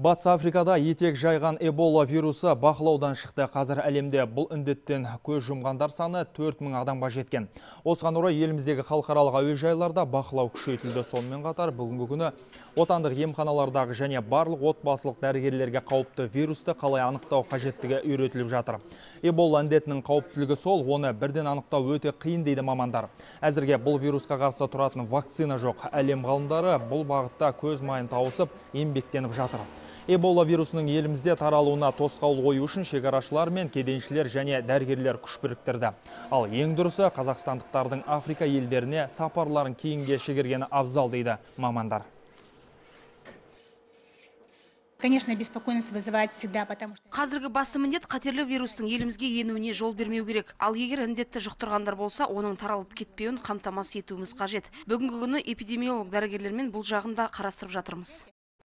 Батыс Африкада етек жайған Эбола вирусы бақылаудан шықты. Қазір әлемде бұл індеттен көз жұмғандар саны 4000 адамға жеткен. Осыған орай еліміздегі халықаралық әуежайларда бақылау күшейтілді. Сонымен қатар бүгінгі күні отандық емханалардағы және барлық отбасылық дәрігерлерге қауіпті вирусты қалай анықтау қажеттігі үйретіліп жатыр. Эбола індетінің қауіптілігі сол, оны бірден анықтау өте қиын дейді мамандар. Әзірге бұл вирусқа қарсы тұратын вакцина жоқ. Әлем ғалымдары бұл бағытта көз майын тауысып, еңбектеніп жатыр. Эбола вирусының елімізде таралуына тосқауыл қою үшін шекарашылар мен кеденшілер және дәрігерлер күш біріктірді. Ал ең дұрысы қазақстандықтардың Африка елдеріне сапарларын кейінге шегергені абзал дейді мамандар. Конечно, беспокойность вызывает всегда, потому что... Қазіргі басты міндет қатерлі вирустың елімізге енуіне жол бермеу керек. Ал егер індетті жұқтырғандар болса, оның таралып кетпеуін қамтамасыз етуіміз қажет. Бүгінгі күні эпидемиолог дәрігерлермен бұл жағын да қарастырып жатырмыз.